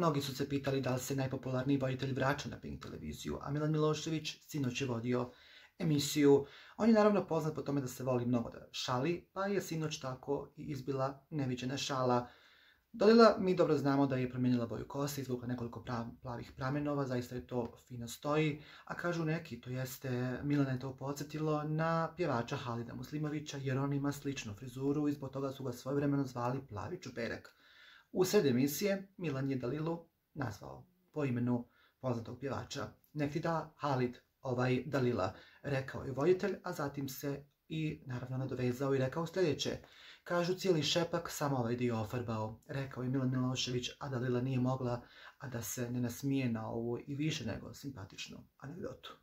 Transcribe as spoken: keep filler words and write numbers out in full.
mnogi su se pitali da li se najpopularniji voditelj vraća na Pink televiziju, a Milan Milošević sinoć je vodio emisiju. On je naravno poznat po tome da se voli mnogo da šali, pa je sinoć tako i izbila neviđena šala. Dalila, mi dobro znamo da je promijenila boju kose, izvukla nekoliko plavih pramenova, zaista je to fino stoji, a kažu neki, to jeste, Milana je to podsjetilo na pjevača Halida Muslimovića, jer on ima sličnu frizuru i zbog toga su ga svojevremeno zvali Plavi čuperek. U sred emisije Milan je Dalilu nazvao po imenu poznatog pjevača. Nek ti da Halid, ovaj Dalila, rekao je voditelj, a zatim se i naravno nadovezao i rekao sljedeće. Kažu cijeli šepak, samo ovaj dio ofarbao, rekao je Milan Milošević, a Dalila nije mogla, a da se ne nasmije na ovu i više nego simpatičnu anegdotu.